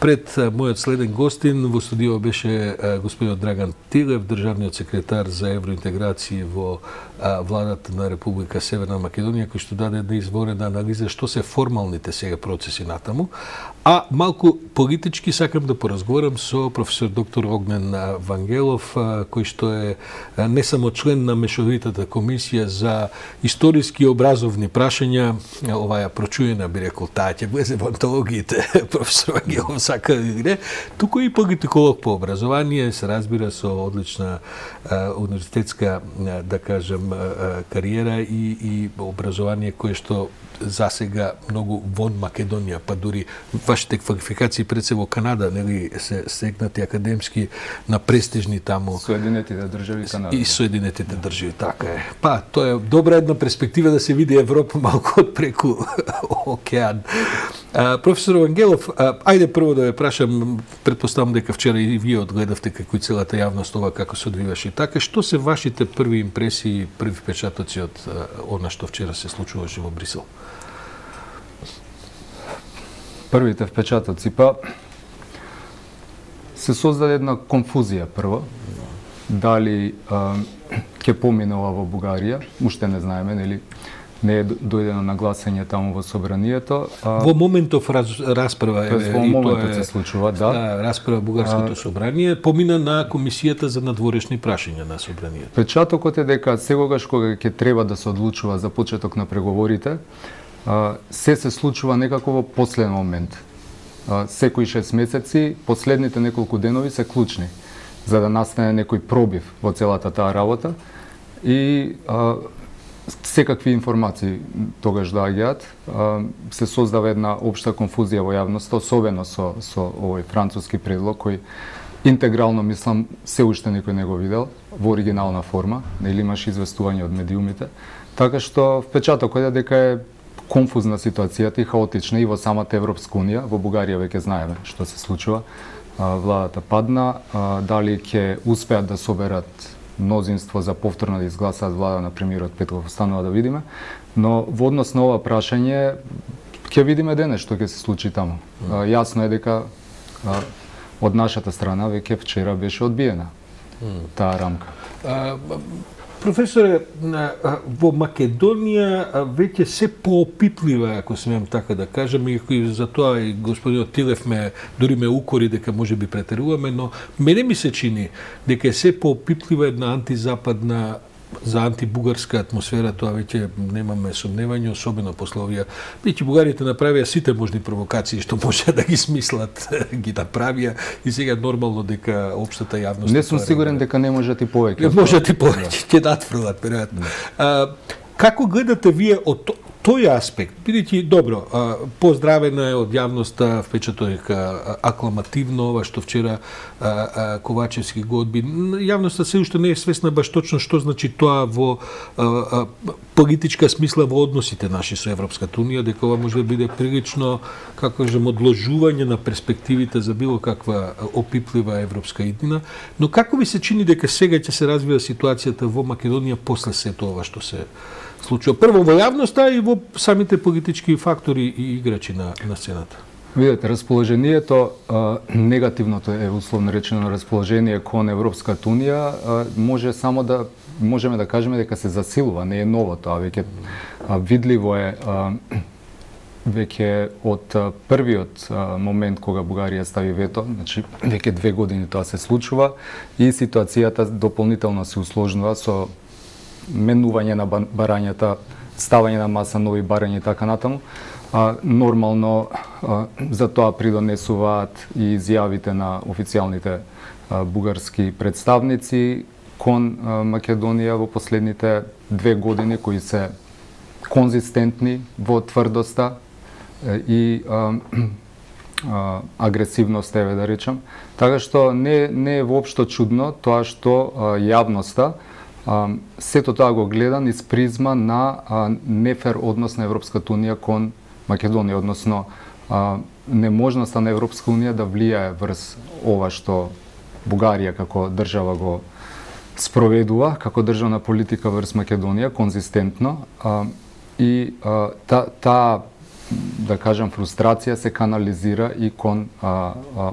Пред мојот следен гостин во студио беше господинот Драган Тилев, државниот секретар за евроинтеграција во владата на Република Северна Македонија, кој што даде една изворена анализа што се формалните сега процеси натаму. А малку политички сакам да поразговарам со професор доктор Огнен Вангелов, кој што е не само член на Мешовитата комисија за историски и образовни прашања, оваа прочуена би рекол, таа ќе влезе во антологиите, професор Вангелов сака или не, туку и политиколог по образование, се разбира со одлична универзитетска, да кажем, кариера и образование кое што засега многу вон Македонија, па дури вашите квалификации пред се во Канада, нели се стекнати академски на престижни таму Соединетите држави Канада. И Соединетите држави, така е. Па, тоа е добра една перспектива да се види Европа малку од преку океан. Професор Вангелов, ајде прво да ве прашам, претпоставам дека вчера и вие одгледавте како и целата јавност ова како се одвиваше. Така, што се вашите први импресии, први впечатоци од она што вчера се случуваше во Брисел? Првите впечатоци, па се создаде една конфузија прво. Дали ќе помине ова во Бугарија, уште не знаеме, нели? Не е дојдено на гласање таму во собранието. Во моментов расправа во моментот се случува, да. Расправа бугарското собрание помина на комисијата за надворешни прашања на собранието. Печатокот е дека сегогаш кога ќе треба да се одлучува за почеток на преговорите, се случува некако во последен момент. Секои 6 месеци, последните неколку денови се клучни за да настане некој пробив во целата таа работа и секакви информации тогаш доаѓаат. Се создава една општа конфузија во јавноста, особено со овој француски предлог кој интегрално, мислам, се уште никој не го видел во оригинална форма, нели имаш известување од медиумите. Така што впечатокот е дека е конфузна ситуацијата и хаотична и во самата Европска унија. Во Бугарија веќе знаеме што се случува. Владата падна, дали ќе успеат да соберат мнозинство за повторно да изгласаат влада на премиерот Петков, останува да видиме, но во однос на ова прашање ќе видиме денес што ќе се случи таму. Јасно е дека од нашата страна веќе вчера беше одбиена таа рамка. Професоре, во Македонија веќе се поопитлива, ако смеам така да кажам, и за тоа и господинот Тилев дури ме укори дека може би претеруваме, но мене ми се чини дека е се поопитлива една антизападна, за антибугарска атмосфера, тоа веќе немаме сомневање, особено после овие. Веќе бугарите направија сите можни провокации што може да ги смислат, ги направија и сега нормално дека општата јавност... Не сум сигурен дека не можат и повеќе. Не можат и повеќе, ќе надфрлат, веројатно. Како гледате вие од тој аспект, бидејќи добро, поздравена е од јавноста впечаток акламативно ова што вчера Ковачевски го одби. Јавноста се уште не е свесна баш точно што значи тоа во политичка смисла во односите наши со Европската унија, дека ова може да биде прилично, како кажем, одложување на перспективите за било каква опиплива европска иднина. Но како ви се чини дека сега ќе се развива ситуацијата во Македонија после сето ова што се случува? Прво во јавноста и во самите политички фактори и играчи на сцената. Видете, расположението, негативното е условно речено расположение кон Европската унија, може само да можеме да кажеме дека се засилува, не е ново тоа, веќе видливо е веќе од првиот момент кога Бугарија стави вето, значи веќе 2 години тоа се случува и ситуацијата дополнително се усложнува со менување на барањата, ставање на маса нови барања и така натаму. Нормално за тоа придонесуваат и изјавите на официјалните бугарски представници кон Македонија во последните 2 години, кои се конзистентни во тврдоста и агресивност, еве да речам. Така што не е воопшто чудно тоа што јавноста сето тоа го гледа низ призма на нефер однос на Европската унија кон Македонија, односно неможноста на Европска унија да влијае врз ова што Бугарија како држава го спроведува, како државна политика врз Македонија, конзистентно. И таа да кажам, фрустрација се канализира и кон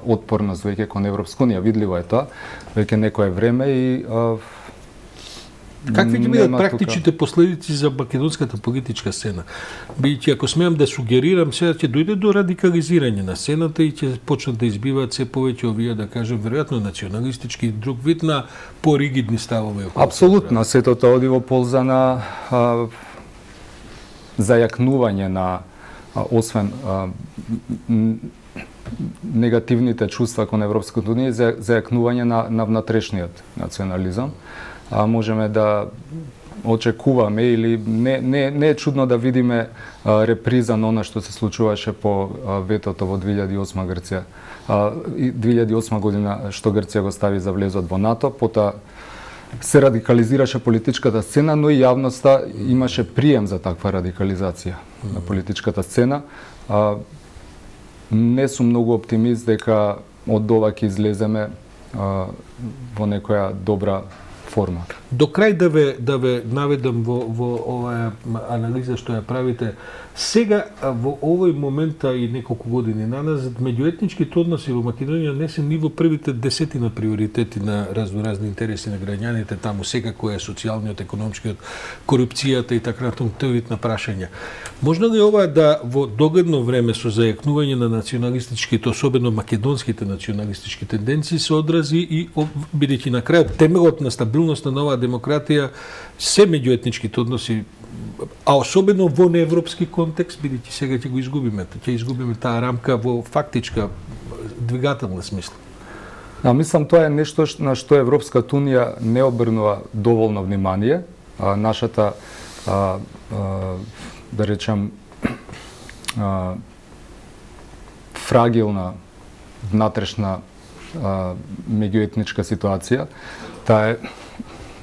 отпорност веќе кон Европска унија. Видливо е тоа, веќе некое време и какви ќе бидат практичните последици за македонската политичка сцена? Бидејќи ако смеам да сугерирам, сега ќе дојде до радикализирање на сцената и ќе почнат да избиваат се повеќе овие, да кажем, веројатно националистички и друг вид на поригидни ставови. Апсолутно, сето тоа оди во полза на зајакнување на освен негативните чувства кон Европската унија, зајакнување на внатрешниот национализам. Можеме да очекуваме или не е чудно да видиме реприза на она што се случуваше по ветото во 2008 Грција. 2008 година што Грција го стави за влезот во НАТО, потоа се радикализираше политичката сцена, но и јавноста имаше прием за таква радикализација на политичката сцена. Не сум многу оптимист дека од ова ќе излеземе во некоја добра форма. До крај да ве наведам во оваа анализа што ја правите. Сега, во овој момент и неколку години наназад, меѓуетничките односи во Македонија не се ни во првите 10 приоритети на разни интереси на граѓаните таму, секако е социјалниот, економскиот, корупцијата и така натаму, тој вид на прашања. Можно ли ова да во догледно време со зајакнување на националистичките, особено македонските националистички тенденции, се одрази и бидејќи на крајот темелот на стабилност на оваа демократија се меѓуетничките односи, а особено во неевропски контекст, бидејќи сега ќе го изгубиме, ќе изгубиме таа рамка во фактичка двигателна смисла. Мислам, тоа е нешто на што Европската унија не обрнува доволно внимание. Нашата, да речем, фрагилна внатрешна меѓуетничка ситуација, таа е,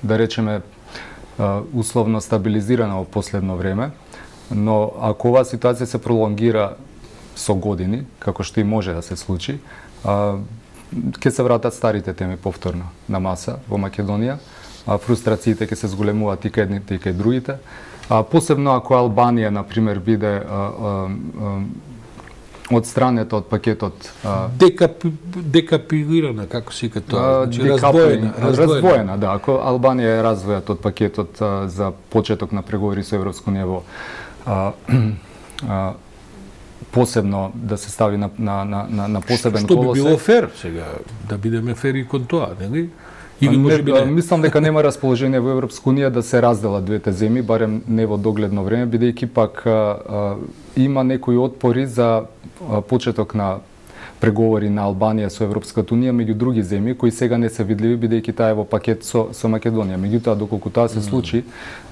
да речеме, условно стабилизирана во последно време, но ако оваа ситуација се пролонгира со години, како што и може да се случи, ќе се вратат старите теми повторно на маса во Македонија, фрустрациите ќе се зголемуваат и кај едните и кај другите, посебно ако Албанија, например, биде одстранета од пакетот декапилирана, како се вика тоа, раздвоена, да, ако Албанија е раздвојат од пакетот за почеток на преговори со Европска унија во посебно да се стави на посебен колосек. Што би било фер сега, да бидеме фери кон тоа, нели? Мислам дека нема расположение во Европска унија да се разделат двете земји, барем не во догледно време, бидејќи пак има некои отпори за почеток на преговори на Албанија со Европската унија меѓу други земји кои сега не се видливи бидејќи таа е во пакет со Македонија. Меѓутоа, доколку тоа се случи,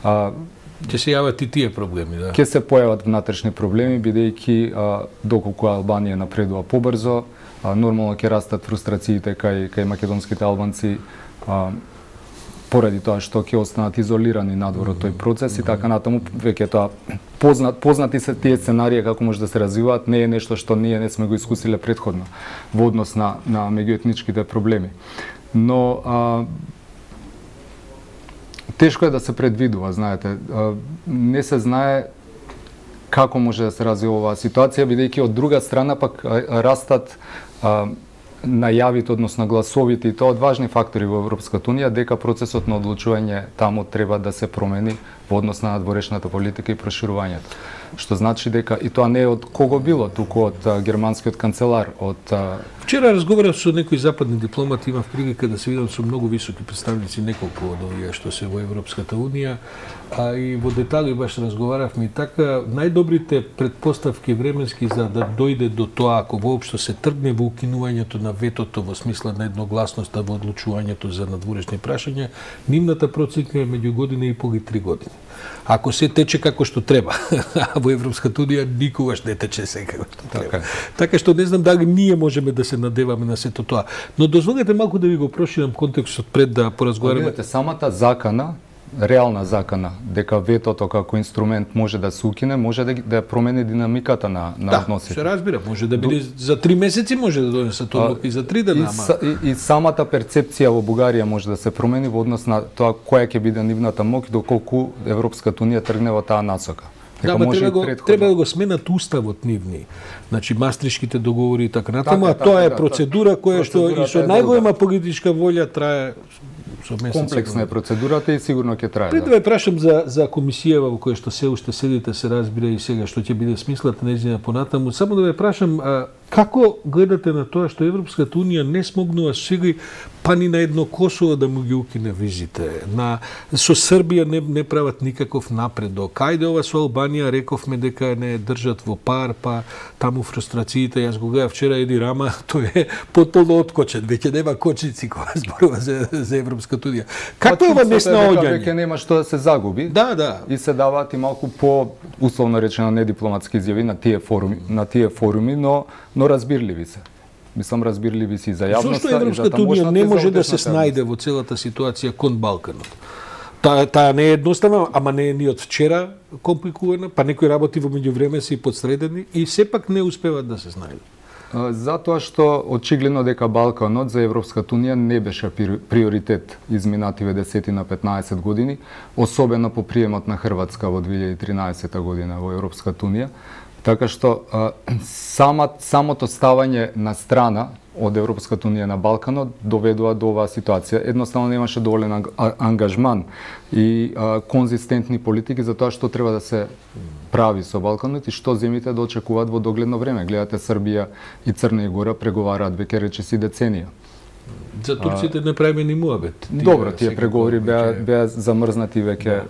ќе се јават и тие проблеми, да. Ќе се појават внатрешни проблеми бидејќи доколку Албанија напредува побрзо, нормално ќе растат фрустрациите кај македонските албанци поради тоа што ќе останат изолирани надвор од тој процес и така натаму. Веќе тоа познати се тие сценарии како може да се развиваат, не е нешто што ние не сме го искусиле претходно во однос на меѓуетничките проблеми. Но тешко е да се предвидува, знаете. Не се знае како може да се развива оваа ситуација, бидејќи од друга страна пак растат најавите, односно гласовите, и тоа од важни фактори во Европската унија, дека процесот на одлучување таму треба да се промени во однос на надворешната политика и проширувањето. Што значи дека и тоа не е од кого било, туку од германскиот канцелар, од Вчера разговарав со некои западни дипломати, имав прилика да се видам со многу високи представници, неколку од овие што се во Европската унија, и во детали баш разговаравме и така, најдобрите предпоставки временски за да дојде до тоа, ако воопшто се тргне во укинувањето на ветото во смисла на едногласноста во одлучувањето за надворешни прашања, нивната проценка е меѓу година и пол и 3 години. Ако се тече како што треба, во Европската унија никогаш не тече се како што треба. Така што не знам дали ние можеме да се надеваме на сето тоа. Но дозволете малку да ви го проширам контекстот пред да поразговараме. Самата закана, реална закана, дека ветото како инструмент може да се укине, може да промени динамиката на односите. Да, се разбира, може да биде за 3 месеци, може да донесат одлука и за 3 дена. И самата перцепција во Бугарија може да се промени во однос на тоа која ќе биде нивната моќ доколку Европската унија тргне во таа насока. Да, треба да го сменат уставот нивни. Значи мастришките договори и така натаму, а тоа е процедура која што и со најголема политичка волја трае со месеци. Комплексна е процедурата и сигурно ќе трае. Пред да ве прашам за комисијава во која што се уште седите, се разбира и сега што ќе биде смислата нејзина понатаму, само да ве прашам како гледате на тоа што Европската унија не смогнува сега па ни на едно Косово да му ги укине визите. Со Србија не прават никаков напредок. Ајде ова со Албанија рековме дека не држат во пар, па таму фрустрациите, јас го гледав вчера Еди Рама, тој е потполно откочен, веќе нема кочници кога зборува за Европската унија. Како е ова неснаоѓање? Веќе нема што да се загуби. Да. И се даваат и малку по условно речено недипломатски изјави на тие форуми, но разбирливи се. Мислам, разбирливи си за јавноста. Зошто Европската унија не може да се снајде во целата ситуација кон Балканот? Таа не е едноставна, ама не е ни од вчера компликувана, па некои работи во меѓувреме се и подсредени и сепак не успеват да се снајдат. Затоа што очигледно дека Балканот за Европската унија не беше приоритет изминативе 10 на 15 години, особено по приемот на Хрватска во 2013 година во Европската унија. Така што самото ставање на страна од Европската унија на Балканот доведува до оваа ситуација. Едноставно немаше доволен ангажман и конзистентни политики за тоа што треба да се прави со Балканот и што земјите да очекуваат во догледно време. Гледате, Србија и Црна Гора преговараат веќе речиси деценија. За турците не правиме ни муабет. Добро, тие преговори беа замрзнати веќе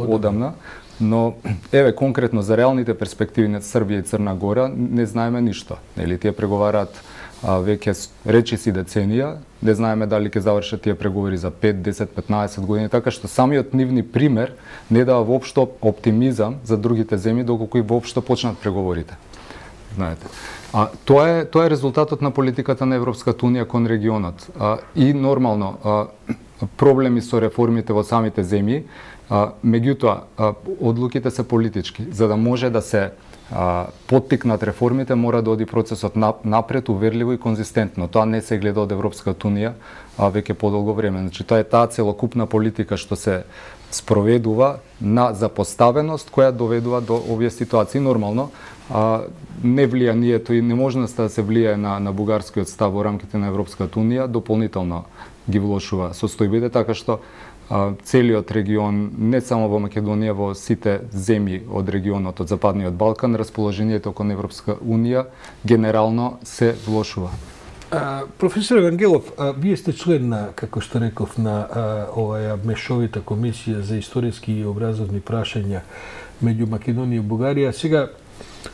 одамна. Но, еве, конкретно за реалните перспективи на Србија и Црна Гора не знаеме ништо. Нели, тие преговараат веќе речиси деценија, не знаеме дали ќе завршат тие преговори за 5, 10, 15 години, така што самиот нивни пример не дава воопшто оптимизам за другите земји доколку и воопшто почнат преговорите. Знаете. Тоа е резултатот на политиката на Европската унија кон регионот. И нормално проблеми со реформите во самите земји. Меѓутоа, одлуките се политички. За да може да се поттикнат реформите, мора да оди процесот напред, уверливо и конзистентно. Тоа не се гледа од Европската унија веќе подолго време. Значи, тоа е таа целокупна политика што се спроведува на запоставеност која доведува до овие ситуации. Нормално, не влијанието и неможноста да се влијае на бугарскиот став во рамките на Европската унија дополнително ги влошува состојбите, така што целиот регион, не само во Македонија, во сите земји од регионот, од Западниот Балкан, расположението кон Европска унија генерално се влошува. Професор Евангелов, вие сте член на, како што реков, на оваа мешовита комисија за историски и образовни прашања меѓу Македонија и Бугарија. Сега,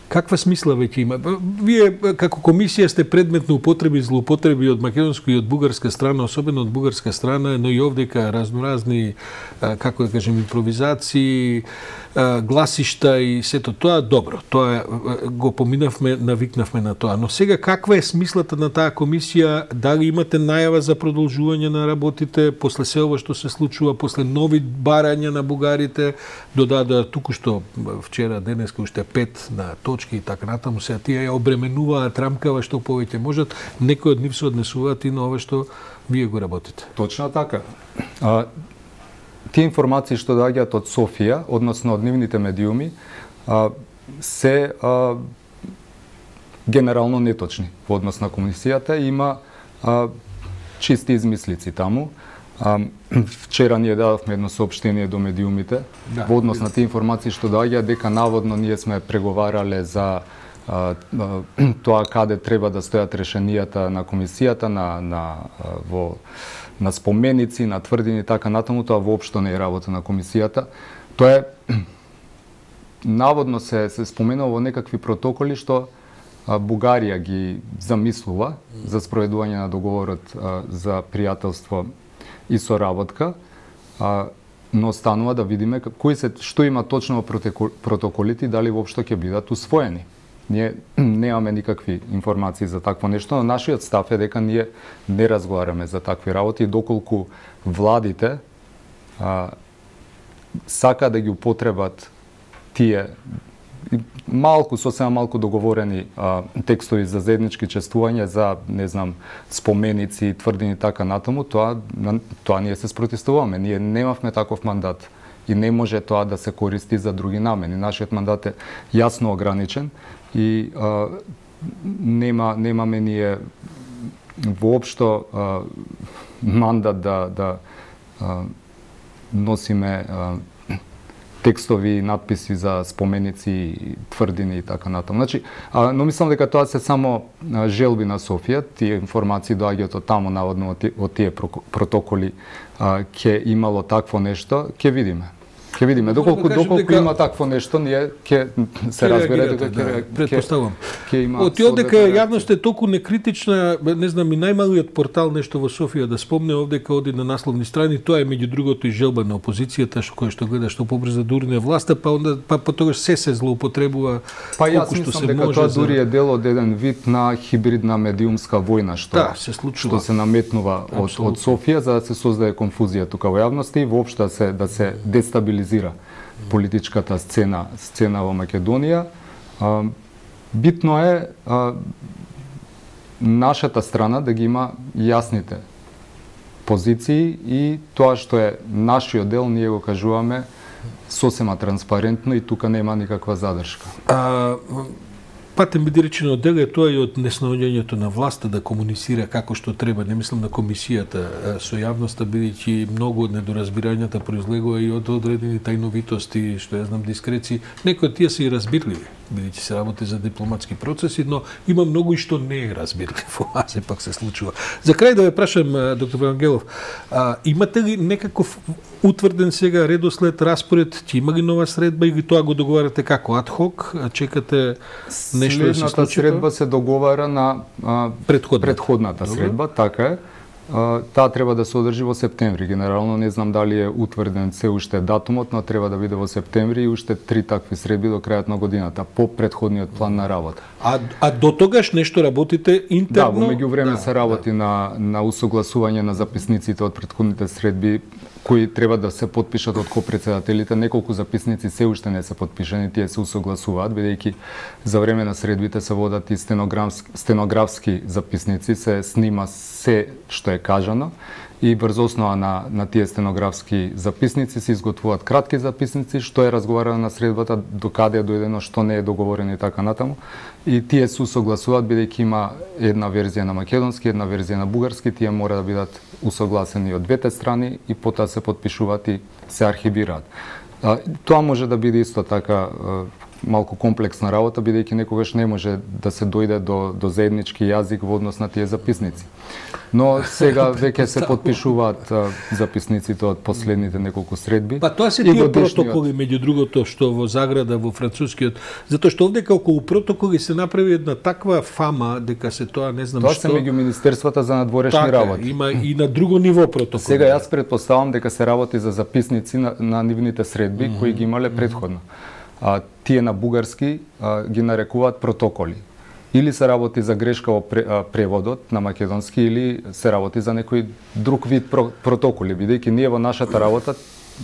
каква смисла веќе има? Вие како комисија сте предмет на употреби и злоупотреби од македонска и од бугарска страна, особено од бугарска страна, но и овдека разноразни, како да кажем, импровизации, гласишта и сето тоа. Добро, тоа го поминавме, навикнавме на тоа. Но сега каква е смислата на таа комисија? Дали имате најава за продолжување на работите после се ова што се случува, после нови барања на бугарите, додадоа туку-што вчера, денеска уште 5 на точки и така натаму, сега тие ја обременуваат рамкава што повеќе можат, некои од нив се однесуваат и на ова што вие го работите. Точно така. Тие информации што доаѓаат од Софија, односно од нивните медиуми, се генерално неточни во однос на комисијата. Има чисти измислици таму. Вчера ние дадовме едно соопштение до медиумите во однос на тие информации што доаѓаат дека наводно ние сме преговарале за тоа каде треба да стојат решенијата на комисијата на споменици, на тврдини и така натаму. Тоа воопшто не е работа на комисијата. Тоа е наводно се споменува во некакви протоколи што Бугарија ги замислува за спроведување на договорот за пријателство и соработка, но останува да видиме што има точно во протоколите и дали воопшто ќе бидат усвоени. Ние немаме никакви информации за такво нешто, но нашиот став е дека ние не разговараме за такви работи и доколку владите сака да ги употребат тие сосема малку договорени текстови за заеднички чествување, за, не знам, споменици, тврдини така натаму, тоа ние се спротивуваме. Ние немавме таков мандат и не може тоа да се користи за други намени. Нашиот мандат е јасно ограничен и немаме ние воопшто мандат да носиме текстови и надписи за споменици, тврдини и така натаму. Значи, но мислам дека тоа се само желби на Софија, тие информации доаѓаат од таму, наводно од тие протоколи ќе имало такво нешто, ќе видиме. Ќе видиме доколку има такво нешто, ние ќе се разбере дека претпоставувам. Ќе има. Од дека јавноста е толку некритична, не знам, и најмалиот портал нешто во Софија да спомне овдека оди на насловни страни, тоа е меѓу другото и желба на опозицијата што гледа што побрза да урне власта, па потогаш се злоупотребува колку што се може. Тоа дури е дел од еден вид на хибридна медиумска војна што се случува, што се наметнува од Софија за да се создаде конфузија тука во јавноста и воопшто да се дестабилизира политичката сцена во Македонија. Битно е нашата страна да ги има јасните позиции и тоа што е нашиот дел, ние го кажуваме сосема транспарентно и тука нема никаква задршка. Патен биде речено дел е тоа и од неснаоѓањето на власта да комуницира како што треба, не мислам на комисијата со јавноста, бидејќи многу од недоразбирањата произлегува и од одредени тајновитости, што ја знам, дискреции. Некои од тие се и разбирливи, бидејќи се работи за дипломатски процеси, но има многу и што не е разбирливо, а се пак се случува. За крај да ве прашам, доктор Врангелов, имате ли некаков утврден сега редослед, распоред, ќе има ли нова средба или тоа го договарате како адхок, чекате нешто да се случи? Средба се договара на предходната средба, така е. Таа треба да се одржи во септември. Генерално не знам дали е утврден се уште датумот, но треба да биде во септември и уште 3 такви средби до крајот на годината по претходниот план на работа. А до тогаш нешто работите интерно? Да, во меѓувреме се работи на усогласување на записниците од претходните средби кои треба да се потпишат од копредседателите. Неколку записници се уште не се потпишани, тие се усогласуваат, бидејќи за време на средбите се водат и стенографски записници, се снима се што е кажано и врз основа на тие стенографски записници се изготвуваат кратки записници, што е разговарано на средбата, докаде е дојдено, што не е договорено и така натаму. И тие се усогласуваат, бидејќи има една верзија на македонски, една верзија на бугарски, тие мора да бидат усогласени од двете страни и потоа се потпишуваат и се архивираат. Тоа може да биде исто така малку комплексна работа, бидејќи некогаш не може да се дојде до заеднички јазик во однос на тие записници. Но сега веќе се потпишуваат записниците од последните неколку средби. Па тоа се тие протоколи, меѓу другото, што во Заграда, во францускиот, затоа што овдека околу протоколи се направи една таква фама дека се тоа не знам тоа што. Тоа се меѓу министерствата за надворешни работи. Има и на друго ниво протоколи. Сега јас претпоставам дека се работи за записници на нивните средби кои ги имале претходно. Тие на бугарски ги нарекуваат протоколи. Или се работи за грешка во преводот на македонски, или се работи за некој друг вид протоколи, бидејќи ние во нашата работа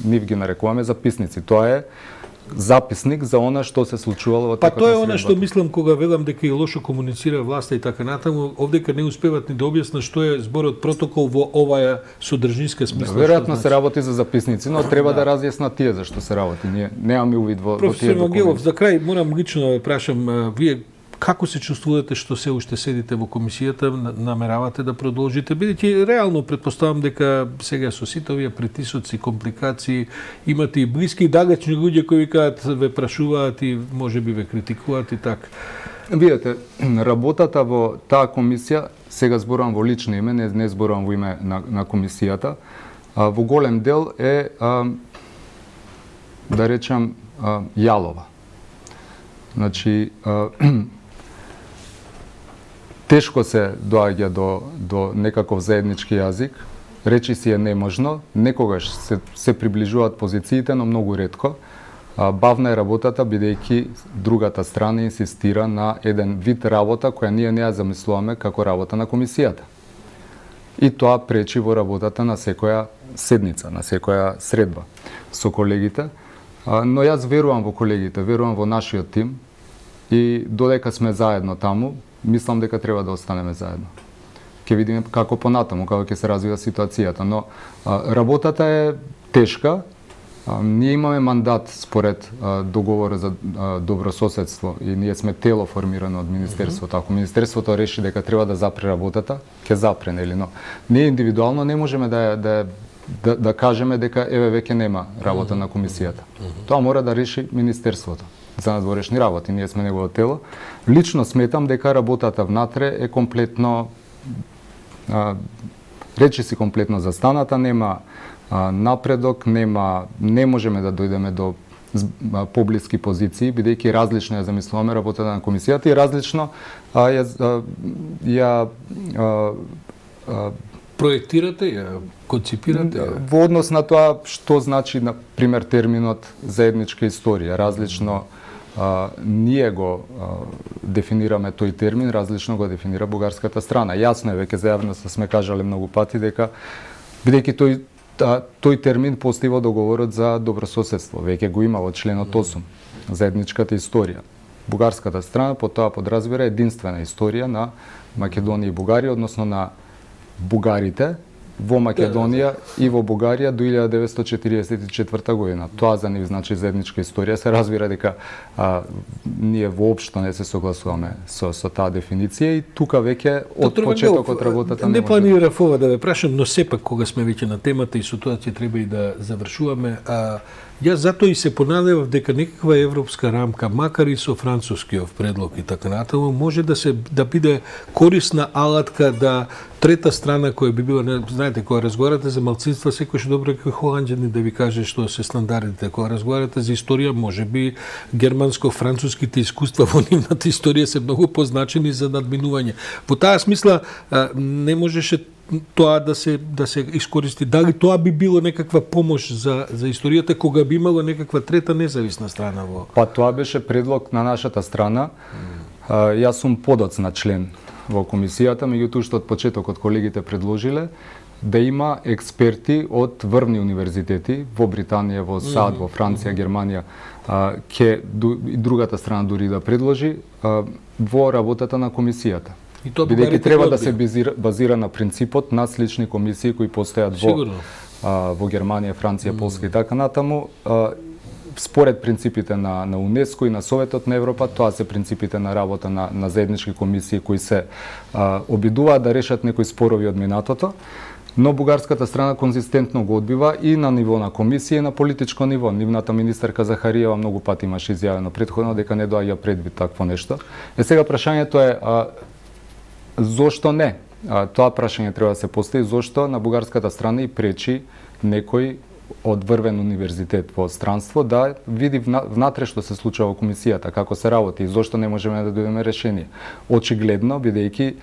нив ги нарекуваме записници. Тоа е записник за она што се случувало во текот на средбата. Па тоа е она што мислам кога велам дека и лошо комуницира власта и така натаму, овдека не успеват ни да објаснат што е зборот протокол во оваа содржинска смисла. Веројатно се работи за записници, но треба да разјаснат тие зашто се работи. Ние немаме увид во тие документи. Професор Вангелов, за крај морам лично да прашам, вие како се чувствувате што се уште седите во комисијата, намеравате да продолжите, бидејќи реално претпоставам дека сега со сите овие притисоци, компликации, имате и блиски и далечни луѓе кои викаат, ве прашуваат и можеби ве критикуваат и така. Видете, работата во таа комисија, сега зборувам во лично име, не зборувам во име на комисијата, во голем дел е, да речам, јалова. Значи, тешко се доаѓа до некаков заеднички јазик, речи си е неможно, некогаш се приближуваат позициите, но многу ретко. Бавна е работата, бидејќи другата страна инсистира на еден вид работа која ние не ја замислуваме како работа на комисијата. И тоа пречи во работата на секоја седница, на секоја средба со колегите. Но јас верувам во колегите, верувам во нашиот тим и додека сме заедно таму, мислам дека треба да останеме заедно. Ќе видиме како понатаму, како ќе се развива ситуацијата, но работата е тешка Ние имаме мандат според договорот за добрососедство и ние сме тело формирано од Министерството. Ако Министерството реши дека треба да запре работата, ќе запре, нели, но ние индивидуално не можеме да кажеме дека еве веќе нема работа на комисијата. Тоа мора да реши Министерството за надворешни работи. Ние сме негово тело. Лично сметам дека работата внатре е комплетно речиси комплетно застаната, нема напредок, не можеме да дојдеме до поблиски позиции, бидејќи различно ја замислуваме работата на комисијата и различно ја проектирате, ја концепирате? Во однос на тоа што значи, на пример, терминот заедничка историја. Различно ние го дефинираме тој термин, различно го дефинира бугарската страна. Јасно е, веќе за јавноста сме кажале многу пати дека бидејќи тој термин постои во договорот за добрососедство, веќе го има во членот 8, заедничката историја. Бугарската страна по тоа подразбира единствена историја на Македонија и Бугарија, односно на бугарите во Македонија и во Бугарија до 1944 година. Тоа за нив значи заедничка историја. Се разбира дека ние воопшто не се согласуваме со таа дефиниција и тука веќе од почетокот работата не планирав ова да ве прашам, но сепак кога сме веќе на темата и со тоа ќе треба и да завршуваме. Јас затоа и се понадевав дека некаква европска рамка, макар и со францускиот предлог и така натаму, може да биде корисна алатка да трета страна која би била, знаете, кога разговарате за малцинства, секој што добро како холанѓани да ви каже што се стандардите. Кога разговарате за историја, можеби германско-француските искуства во нивната историја се многу позначени за надминување. Во таа смисла не можеше тоа да се искористи. Дали тоа би било некаква помош за историјата кога би имало некаква трета независна страна во? Па тоа беше предлог на нашата страна. Јас сум подоцна член во комисијата, меѓутоа што од почетокот колегите предложиле да има експерти од врвни универзитети во Британија, во САД, во Франција, Германија, и другата страна дури да предложи во работата на комисијата. Бидејќи треба да се базира на принципот на слични комисии кои постојат во Германија, Франција, Полска и така натаму. Според принципите на УНЕСКО и на Советот на Европа, тоа се принципите на работа на заеднички комисии кои се обидуваат да решат некои спорови од минатото, но бугарската страна конзистентно го одбива и на ниво на комисија и на политичко ниво. Нивната министерка Захариева многу пати имаше изјавено претходно дека не доаѓа предвид такво нешто. Сега прашањето е зошто не? Тоа прашање треба да се постави, зошто на бугарската страна и пречи некој од врвен универзитет во странство да види внатре што се случува во комисијата, како се работи и зошто не можеме да дојдеме решение. Очигледно, бидејќи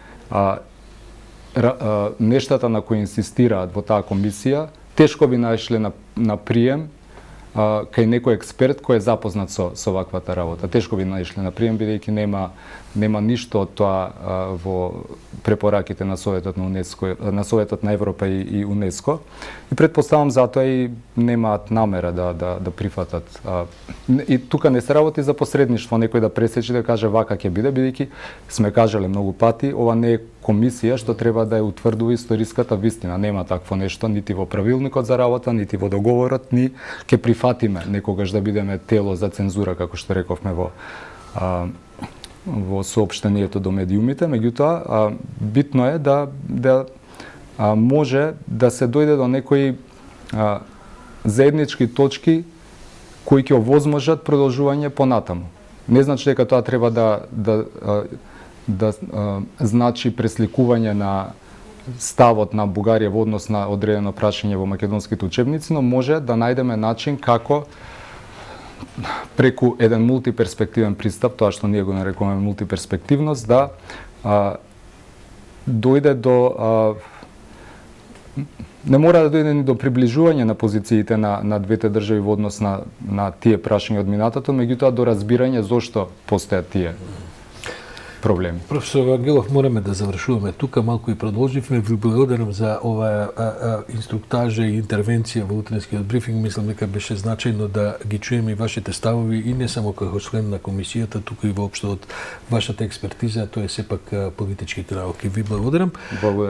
нештата на кои инсистираат во таа комисија, тешко би најшле на прием кај некој експерт кој е запознат со ваквата работа. Тешко би најшле на прием, бидејќи нема ништо од тоа во препораките на Советот на УНЕСКО, на Советот на Европа и УНЕСКО. И предпоставам затоа и немаат намера да прифатат. И тука не се работи за посредништво, некој да пресечи да каже вака ќе биде, бидејќи сме кажале многу пати, ова не е комисија што треба да ја утврдува историската вистина. Нема такво нешто нити во правилникот за работа, нити во договорот, ни ќе прифатиме некогаш да бидеме тело за цензура, како што рековме во соопштението до медиумите. Меѓутоа, битно е да може да се дојде до некои заеднички точки кои ќе овозможат продолжување понатаму. Не значи дека тоа треба да значи пресликување на ставот на Бугарија во однос на одредено прашање во македонските учебници, но може да најдеме начин како преку еден мултиперспективен пристап, тоа што ние го нарекуваме мултиперспективност, да дојде до не мора да дојде ни до приближување на позициите на двете држави во однос на тие прашања од минатото, меѓутоа до разбирање зошто постојат тие проблеми. Професор Вангелов, мораме да завршуваме тука, малку и продолживме. Ви благодарам за оваа инструктажа и интервенција во утренскиот брифинг. Мислам дека беше значајно да ги чуеме и вашите ставови и не само како член на комисијата, туку и воопшто од вашата експертиза, тоа е сепак политичките науки. Ви благодарам. Благодарам.